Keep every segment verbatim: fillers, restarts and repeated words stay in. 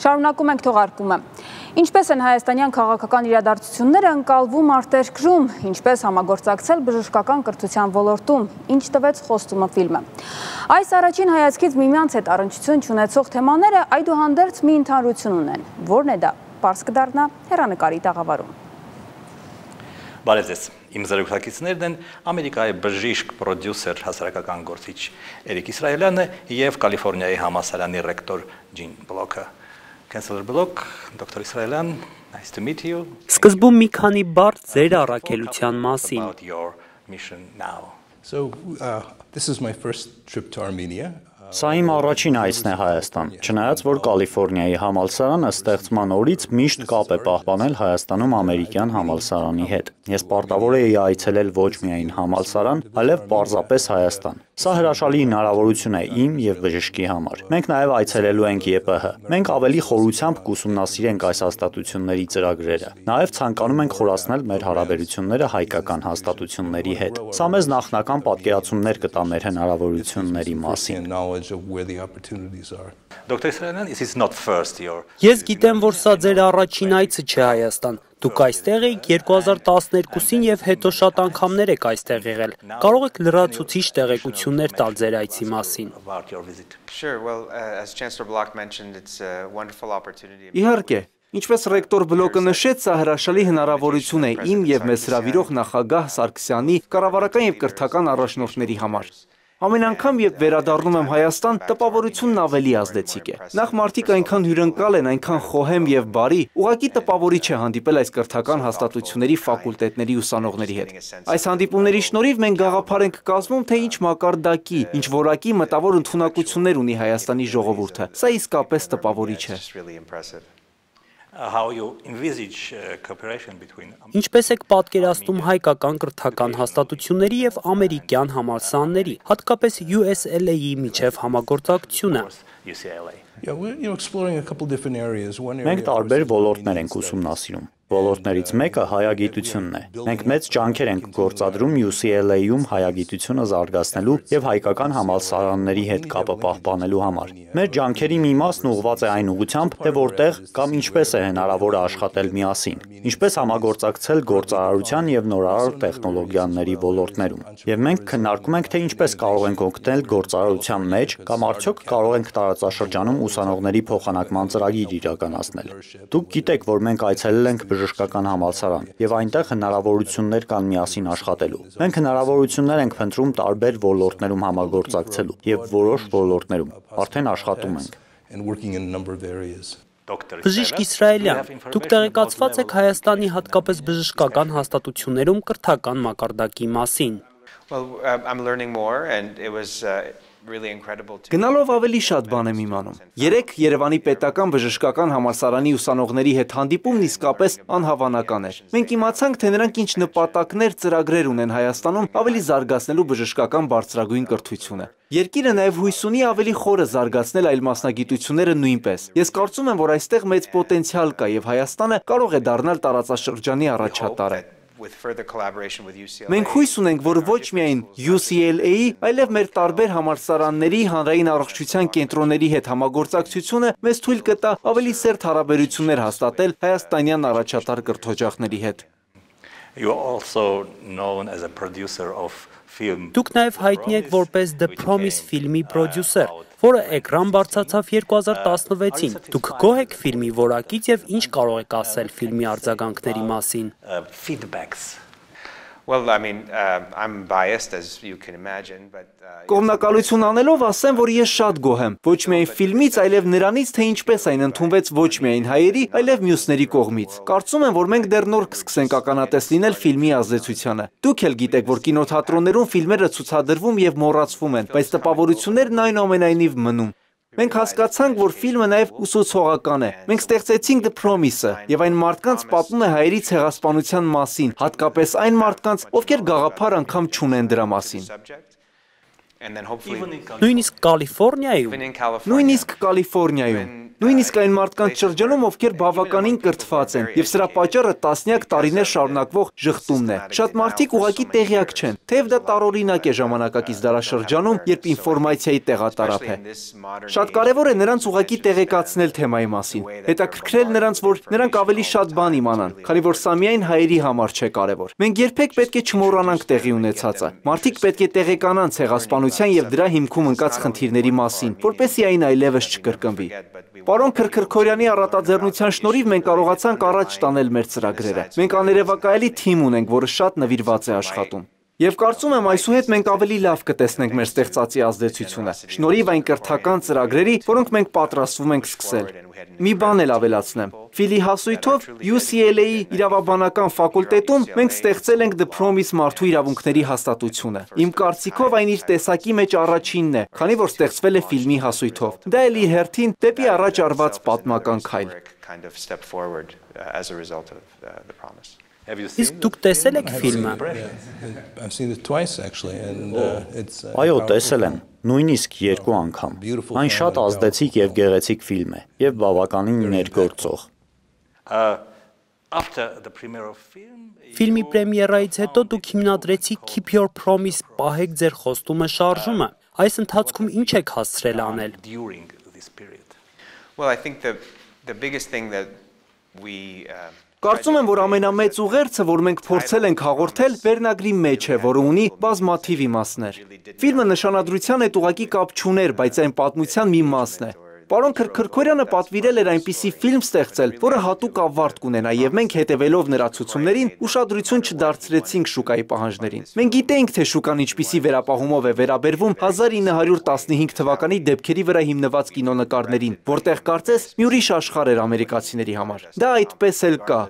Շարունակում ենք թողարկումը։ Ինչպես են հայաստանյան քաղաքական իրադարձությունները ընկալվում արտերկրում, ինչպես համագործակցել բժշկական կրթության ոլորտում, ինչ տվեց խոստումը ֆիլմը։ Այս առաջին հայացքից միմյանց հետ առնչություն չունեցող թեմաները այդուհանդերձ մի ընդհանրություն ունեն, որն է դա, պարզ կդառնա հեռանկարի տաղավարում։ Բարև ձեզ, իմ զրուցակիցներն են Ամերիկայի բժիշկ, պրոդյուսեր, հասարակական գործիչ Էրիկ Իսրայելյանը և Կալիֆորնիայի համալսարանի ռեկտոր Ջին Բլոքը։ Chancellor Block, Doctor Israelian, nice to meet you. Սկզբում մի քանի բառ ձեր առաքելության մասին։ About your mission now. So uh, this is my first trip to Armenia. Սա իմ առաջին այցն է Հայաստան, չնայած որ Կալիֆորնիայի համալսարանը ստեղծման օրից միշտ կապ է պահպանել Հայաստանում ամերիկյան համալսարանի հետ։ Ես պարտավոր էի այցելել ոչ միայն համալսարան, այլև պարզապես Հայաստան։ Սա հրաշալի հնարավորություն է իմ և բժշկի համար։ Մենք նաև այցելելու ենք Ե Պ Հ։ Մենք ավելի խորությամբ կուսումնասիրենք այս հաստատությունների ծրագրերը։ Նաև ցանկանում ենք խորացնել մեր հարաբերությունները հայկական հաստատությունների հետ։ Սա մեզ նախնական պատկերացումներ կտա մեր հնարավորությունների մասին։ Doctor Israelian, this is not first your. Ես գիտեմ, որ սա ձեր առաջին այցը չէ Հայաստան։ Դուք այստեղ եք երկու հազար տասներկուսին և հետո շատ անգամներ եք այստեղ եղել։ Կարող եք լրացուցիչ տեղեկություններ տալ ձեր այցի մասին։ Իհարկե, ինչպես ռեկտոր Բլոկը նշեց, սա հրաշալի հնարավորություն է իմ և մեզ հրավիրող նախագահ Սարգսյանի կառավարական և կրթական առաջնորդների համար։ Ամեն անգամ, երբ վերադառնում եմ Հայաստան, տպավորությունն ավելի ազդեցիկ է։ Նախ մարդիկ այնքան հյուրընկալ են, այնքան խոհեմ և բարի, ուղղակի տպավորիչ է հանդիպել այս կրթական հաստատությունների ֆակուլտետների ուսանողների հետ։ Այս հանդիպումների շնորհիվ մենք գաղափար ենք կազմում, թե ինչ մակարդակի, ինչ որակի մտավոր ընդունակություններ ունի Հայաստանի ժողովուրդը։ Սա իսկապես տպավորիչ է։ How you envisage cooperation between. Ինչպես եք պատկերացնում հայկական կրթական հաստատությունների և ամերիկյան համալսարանների, հատկապես U S L A-ի միջև համագործակցությունը։ Մենք տարբեր ոլորտներ ենք ուսումնասիրում։ Ոլորտներից մեկը հայագիտությունն է։ Մենք մեծ ջանքեր ենք գործադրում U C L A-ում հայագիտությունը զարգացնելու և հայկական համալսարանների հետ կապը պահպանելու համար։ Մեր ջանքերի մի մասն ուղղված է այն ուղղությամբ, թե որտեղ կամ ինչպես է հնարավոր աշխատել միասին, ինչպես համագործակցել գործարարության և նորարար տեխնոլոգիաների ոլորտներում։ Եվ մենք քննարկում ենք, թե ինչպես կարող ենք օգնել գործարարության մեջ կամ արդյոք կարող ենք տարածաշրջանում ուսանողների փոխանակման ծրագիր իրականացնել։ Դուք գիտեք, որ մենք այցելել ենք բժշկական համալսարան և այնտեղ հնարավորություններ կան միասին աշխատելու։ Մենք հնարավորություններ ենք փնտրում տարբեր ոլորտներում համագործակցելու և որոշ ոլորտներում արդեն աշխատում ենք։ Բժիշկ Իսրայելյան, դուք տեղեկացված եք Հայաստանի հատկապես բժշկական հաստատություններում կրթական մակարդակի մասին։ Գնալով ավելի շատ բան եմ իմանում։ Երեկ Երևանի պետական բժշկական համալսարանի ուսանողների հետ հանդիպումն իսկապես անհավանական էր։ Մենք իմացանք, թե նրանք ինչ նպատակներ, ծրագրեր ունեն Հայաստանում ավելի զարգացնելու բժշկական բարձրագույն կրթությունը։ Երկիրը նաև հույս ունի ավելի խորը զարգացնել այլ մասնագիտությունները նույնպես։ Ես կարծում եմ, որ այստեղ մեծ պոտենցիալ կա և Հայաստանը կարող է դառնալ տարածաշրջանի առաջատարը։ Մենք հույս ունենք, որ ոչ միայն U C L A-ի, այլև մեր տարբեր համալսարանների, հանրային առողջության կենտրոնների հետ համագործակցությունը մեզ թույլ կտա ավելի սերտ հարաբերություններ հաստատել հայաստանյան առաջատար կրթօջախների հետ։ Դուք նաև հայտնի եք որպես The Promise ֆիլմի պրոդյուսեր, որը էկրան բարձրացավ երկու հազար տասնվեցին։ Դուք գոհ եք ֆիլմի որակից և ինչ կարող եք ասել ֆիլմի արձագանքների մասին։ Կողմնակալություն անելով ասեմ, որ ես շատ գոհ եմ, ոչ միայն ֆիլմից, այլև նրանից, թե ինչպես այն ընդունվեց ոչ միայն հայերի, այլև մյուսների կողմից։ Կարծում եմ, որ մենք դեռ նոր կսկսենք ականատես լինել ֆիլմի ազդեցությանը։ Դուք էլ գիտեք, որ կինոթատրոններում ֆիլմերը ցուցադրվում և մոռացվում են, բայց տպավորություններն այնուամենայնիվ մնում։ Մենք հասկացանք, որ ֆիլմը նաև ուսուցողական է։ Մենք ստեղծեցինք The Promise-ը, և այն մարդկանց պատմում է հայերի ցեղասպանության մասին, հատկապես այն մարդկանց, ովքեր գաղափար անգամ չունեն դրա մասին։ Նույնիսկ Կալիֆորնիայում։ Նույնիսկ Կալիֆորնիայում։ Նույնիսկ այն մարդկանց շրջանում, ովքեր բավականին կրթված են, եւ սրա պատճառը տասնյակ տարիներ շարունակվող ժխտումն է։ Շատ մարդիկ ուղղակի տեղյակ չեն, թեև դա տարօրինակ է ժամանակակից դարաշրջանում, երբ ինֆորմացիայի տեղատարափ է։ Շատ կարևոր է նրանց ուղղակի տեղեկացնել թեմայի մասին, հետաքրքրել նրանց, որ նրանք ավելի շատ բան իմանան, քանի որ սա միայն հայերի համար չէ կարևոր։ Մենք երբեք պետք է չմոռանանք տեղի ունեցածը։ Մարդիկ պետք է տեղեկանան ցեղասպանության եւ դրա հիմքում ընկած խնդիրների մասին, որպեսզի այն այլևս չկրկնվի։ Պարոն Քրքրքորյանի առատաձեռնության շնորհիվ մենք կարողացանք առաջ տանել մեր ծրագրերը։ Մենք աներևակայելի թիմ ունենք, որը շատ նվիրված է աշխատում։ Եվ կարծում եմ այսուհետ մենք ավելի լավ կտեսնենք մեր ստեղծածի ազդեցությունը, շնորհիվ այն կրթական ծրագրերի, որոնք մենք պատրաստվում ենք սկսել։ Մի բան էլ ավելացնեմ։ Ֆիլի հասույթով U C L A-ի իրավաբանական ֆակուլտետում մենք ստեղծել ենք The Promise մարդու իրավունքների հաստատությունը։ Իմ կարծիքով այն իր տեսակի մեջ առաջինն է, քանի որ ստեղծվել է ֆիլմի հասույթով։ Դա էլ իր հերթին դեպի առաջ արված պատմական քայլ։ Իսկ դուք տեսել եք ֆիլմը։ Այո, տեսել եմ, նույնիսկ երկու անգամ։ Այն շատ ազդեցիկ եւ գեղեցիկ ֆիլմ է եւ բավականին ներգործող։ Ֆիլմի պրեմիերայից հետո դուք հիմնադրեցիք Keep Your Promise, պահեք ձեր խոստումը շարժումը։ Այս ընթացքում ինչ եք հասցրել անել։ Կարծում եմ, որ ամենամեծ ուղերձը, որ մենք փորձել ենք հաղորդել, վերնագրի մեջ է, որը ունի բազմաթիվ իմաստներ։ Ֆիլմը նշանադրության հետ ուղղակի կապ չուներ, բայց այն պատմության մի մասն է։ Պարոն Քրքրքորյանը պատվիրել էր այնպիսի ֆիլմ ստեղծել, որը հատուկ ավարտ կունենա, եւ մենք հետևելով նրա ցուցումներին ուշադրություն չդարձրեցինք շուկայի պահանջներին։ Մենք գիտեինք, թե շուկան ինչպիսի վերապահումով է վերաբերվում հազար ինը հարյուր տասնհինգ թվականի դեպքերի վրա հիմնված կինոնկարներին, որտեղ կարծես մի ուրիշ աշխարհ էր ամերիկացիների համար։ Դա այդպես էլ կա։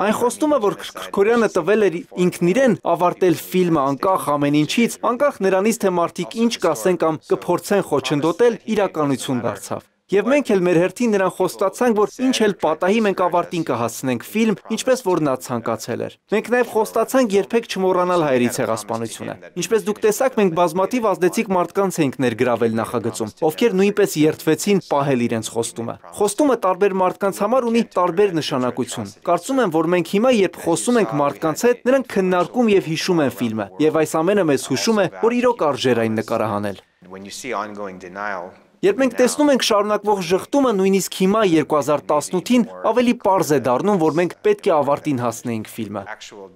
Այն խոստումը, որ Քրքրքորյանը տվել էր ինքն իրեն ավարտել ֆիլմը անկախ ամեն ինչից, անկախ նրանից, թե մարդիկ ինչ կասեն կամ կփորձեն խոչընդոտել, իրականություն դարձավ։ Եվ մենք էլ մեր հերթին նրան խոստացանք, որ ինչ էլ պատահի մենք ավարտին կհասցնենք ֆիլմ, ինչպես որ նա ցանկացել էր։ Մենք նաև խոստացանք երբեք չմոռանալ հայերի ցեղասպանությունը։ Ինչպես դուք տեսաք, մենք բազմաթիվ ազդեցիկ մարդկանց ենք ներգրավել նախագծում, ովքեր նույնպես երդվեցին պահել իրենց խոստումը։ Խոստումը տարբեր մարդկանց համար ունի տարբեր նշանակություն։ Կարծում եմ, որ մենք հիմա, երբ խոսում ենք մարդկանց հետ, նրանք քննարկում եւ հիշում են ֆիլմը, եւ այս ամենը մեզ հուշում է, որ իրոք արժեր այն նկարահանել։ Երբ մենք տեսնում ենք շարունակվող ժխտումը, նույնիսկ հիմա երկու հազար տասնութին ավելի պարզ է դառնում, որ մենք պետք է ավարտին հասնեինք ֆիլմը։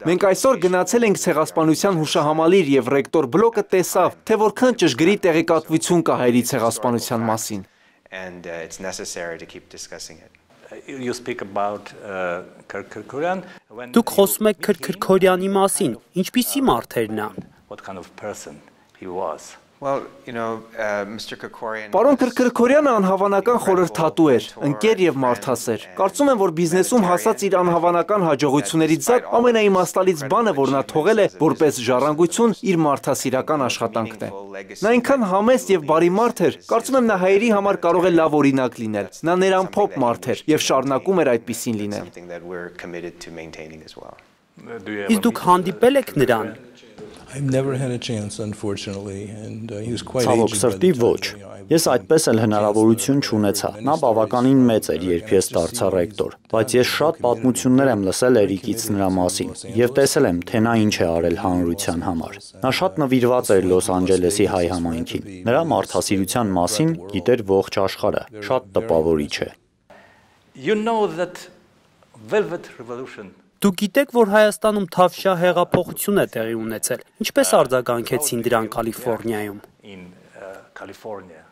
Մենք այսօր գնացել ենք ցեղասպանության հուշահամալիր եւ ռեկտոր բլոկը տեսավ, թե որքան ճշգրիտ տեղեկատվություն կա հայերի ցեղասպանության մասին։ Դուք խոսում եք Քրքրքորյանի մասին, ինչպիսի մարդ էր նա։ Պարոն Քրքրքորյանը անհավանական խորհրդատու էր, ընկեր եւ մարդասեր։ Կարծում եմ, որ բիզնեսում հասած իր անհավանական հաջողություններից զատ ամենաիմաստալից բանը, որ նա թողել է որպես ժառանգություն, իր մարդասիրական աշխատանքն է։ Նա այնքան համեստ եւ բարի մարդ էր, կարծում եմ նա հայերի համար կարող է լավ օրինակ լինել։ Նա ներամփոփ մարդ էր եւ շարունակում էր այդպիսին լինել։ Իսկ դուք հանդիպել եք նրան։ I've never had a chance, unfortunately, and uh, he was quite Ցավոք aged. սրտի ոչ։ Ես այդպես էլ հնարավորություն չունեցա։ Նա բավականին մեծ էր, երբ ես դարձա ռեկտոր, բայց ես շատ պատմություններ եմ լսել Էրիկից նրա մասին եւ տեսել եմ, թե նա ինչ է արել հանրության համար։ Նա շատ նվիրված էր Լոս Անջելեսի հայ համայնքին։ Նրա մարդասիրության մասին գիտեր ողջ աշխարհը։ Շատ տպավորիչ է։ You know that Velvet Revolution. Դուք գիտեք, որ Հայաստանում Թավշյա հեղափոխություն է տեղի ունեցել։ Ինչպես արձագանքեցին դրան Կալիֆոռնիայում։ In uh, California.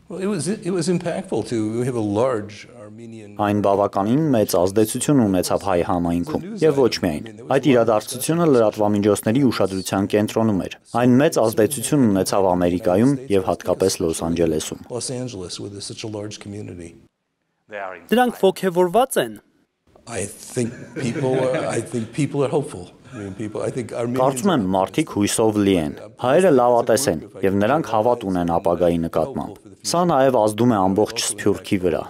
Well, it was it was impactful too. We have a large Armenian. Այն բավականին մեծ ազդեցություն ունեցավ հայ համայնքում եւ ոչ միայն։ Այդ իրադարձությունը լրատվամիջոցների ուշադրության կենտրոնում էր։ Այն մեծ ազդեցություն ունեցավ Ամերիկայում եւ հատկապես Լոս Անջելեսում։ Los Angeles with such a large community. Դրանք ոգևորված են։ I think people are, I think people are hopeful. I mean, people, I think Armenians. Կարծում եմ մարդիկ հույսով լի են։ Հայերը լավատես են եւ նրանք հավատ ունեն ապագայի նկատմամբ։ Սա նաեւ ազդում է ամբողջ Սփյուռքի վրա։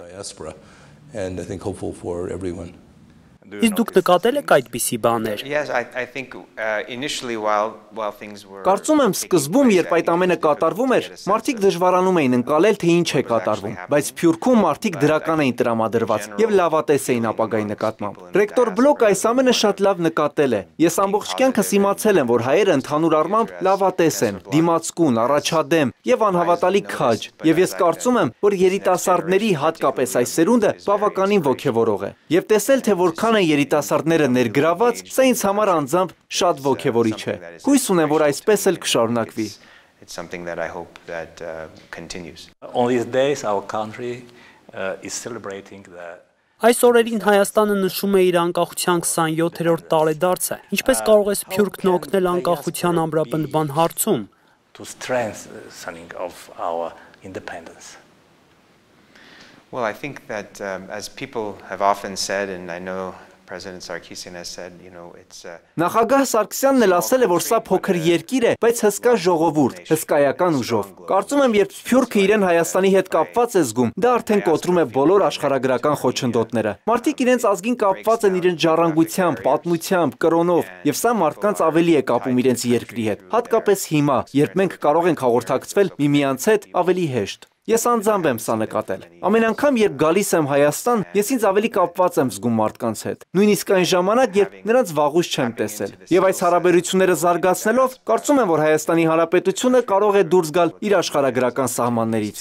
And I think hopeful for everyone. Իսկ դուք նկատել եք այդպիսի բաներ։ Կարծում եմ սկզբում, երբ այդ ամենը կատարվում էր, մարդիկ դժվարանում էին ընկալել, թե ինչ է կատարվում, բայց Սփյուռքում մարդիկ դրական էին տրամադրված եւ լավատես էին ապագայի նկատմամբ։ Ռեկտոր Բլոկը այս ամենը շատ լավ նկատել է։ Ես ամբողջ կյանքս իմացել եմ, որ հայերը ընդհանուր առմամբ լավատես են, դիմացկուն, առաջադեմ եւ անհավատալի քաջ, եւ ես կարծում եմ, որ երիտասարդների, հատկապես այս սերունդը, բավականին ոգևորող է։ Եվ տեսնել, թե որքան են երիտասարդները ներգրաված, սա ինձ համար անձամբ շատ ոգևորիչ է։ Հույս ունեմ, որ այսպես էլ կշարունակվի։ It's something that I hope that uh, continues. On these days our country uh, is celebrating the Այս օրերին Հայաստանը նշում է իր անկախության քսանյոթերորդ տարեդարձը։ Ինչպես կարող է Սփյուռքն օգնել անկախության ամրապնդման հարցում? To strengthening of our independence. Well, I think that um, as people have often said, and I know President Sarkisian has said, you know, it's uh, Նախագահ Սարգսյանն էլ ասել է, որ սա փոքր երկիր է, բայց հսկա ժողովուրդ, հսկայական ուժով։ Կարծում եմ, երբ Սփյուռքը իրեն Հայաստանի հետ կապված է զգում, դա արդեն կոտրում է բոլոր աշխարհագրական խոչընդոտները։ Մարդիկ իրենց ազգին կապված են իրենց ժառանգությամբ, պատմությամբ, կրոնով, եւ սա մարդկանց ավելի է կապում իրենց երկրի հետ։ Հատկապես հիմա, երբ մենք կարող ենք հաղորդակցվել միմյանց հետ ավելի հեշտ։ Ես անձամբ եմ սա նկատել։ Ամեն անգամ, երբ գալիս եմ Հայաստան, ես ինձ ավելի կապված եմ զգում մարդկանց հետ։ Նույնիսկ այն ժամանակ, երբ նրանց վաղուց չեմ տեսել։ Եվ այս հարաբերությունները զարգացնելով, կարծում եմ, որ Հայաստանի Հանրապետությունը կարող է դուրս գալ իր աշխարհագրական սահմաններից։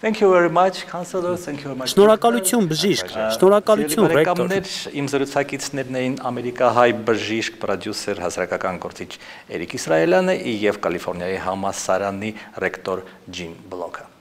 Thank you very much, Councillor. Thank you very much. Շնորհակալություն բժիշկ, շնորհակալություն ռեկտոր։ Իմ զրուցակիցներն էին ամերիկահայ բժիշկ, պրոդյուսեր, հասարակական գործիչ Էրիկ Իսրայելյանը եւ Կալիֆոռնիայի համալսարանի ռեկտոր Ջին Բլոկը։